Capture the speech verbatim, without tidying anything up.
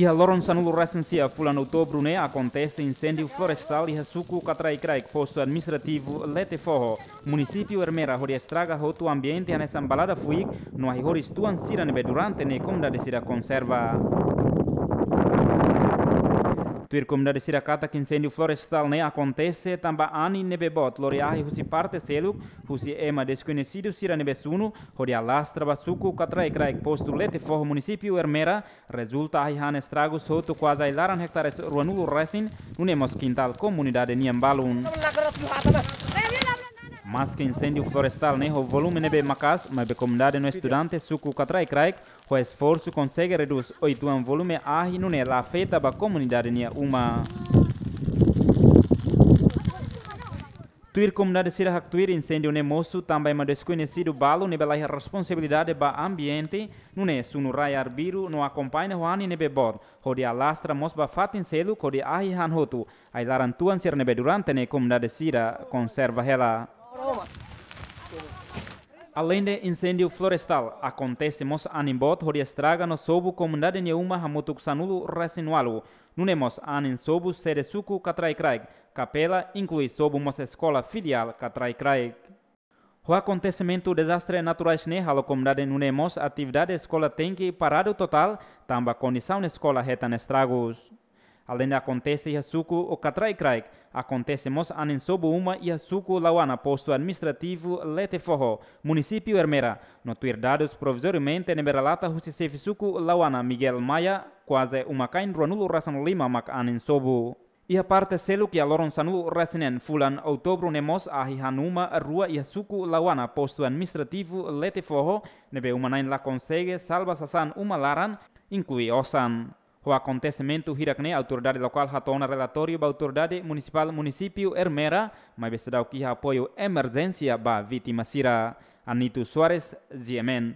Iha loron sanulu resin sia fulan Outubru ne'e akontese inséndiu florestál iha suku Katraikraik, postu administrativu Letefoho, munisípiu Ermera, hodi estraga hotu ambiente hanesan balada fuik no ahi horis tuan sira ne'ebé durante ne'e komunidade sira konserva. Tuir komunidade sira katak inséndiu florestál ne'e akontese tanba anin ne'ebé boot lori ahi husi parte seluk, husi ema deskoñesidu sira ne'ebé sunu, hodi alastra ba suku Katraikraik, postu Letefoho, munisípiu Ermera, rezulta ahi han estragus hotu kuaze ai-laran ektares ruanulu resin, nune'e mós kintál komunidade nian balun. Maske inséndiu florestál ne'e ho volume ne'ebé maka'as, maibé komunidade no estudante suku Katraikraik ho esforsu konsege redús oituan volume ahi, nune'e la afeta ba komunidade nia uma. Tuir komunidade sira haktuir, inséndiu ne'e mosu tanba ema deskoñesidu balu ne'ebé laiha responsabilidade ba ambiente, nune'e sunu rai arbiru no akompaña ho anin ne'ebé boot, hodi alastra mós ba fatin seluk hodi ahi han hotu, ai-laran tuan sira ne'ebé durante ne'e komunidade sira konserva hela. Aleinde inséndiu florestál, akontese mós anin boot hodi estraga no sobu komunidade nia uma hamutuk sanulu resin ualu, nune'e mós anin sobu sede suku Katraikraik, kapela, inklui sobu mós eskola filiál Katraikraik. Ho akontesimentu dezastre naturais ne'e halo komunidade nune'e mós atividade eskola tenke paradu totál, tanba kondisaun eskola hetan estragus. Aleinde akontese iha suku Katraikraik, akontese mós anin sobu uma iha suku Lauana, postu administrativu Letefoho, munisípiu Ermera, no tuir dadus provizoriamente ne'ebé relata husi xefe suku Lauana, Miguel Maia, kuaze uma-kain ruanulu resin lima mak anin sobu. Iha parte seluk, iha loron sanulu resin neen fulan Outubru ne'e mós ahi han uma rua iha suku Lauana, postu administrativu Letefoho, ne'ebé uma-na'in la konsege salva sasán uma laran, inklui osan. Ho akontesimentu hirak ne'e autoridade lokál hato'o ona relatóriu ba autoridade munisipál munisípiu Ermera, maibé seidauk iha apoiu emerjénsia ba vítima sira. Anito Soares, G M N.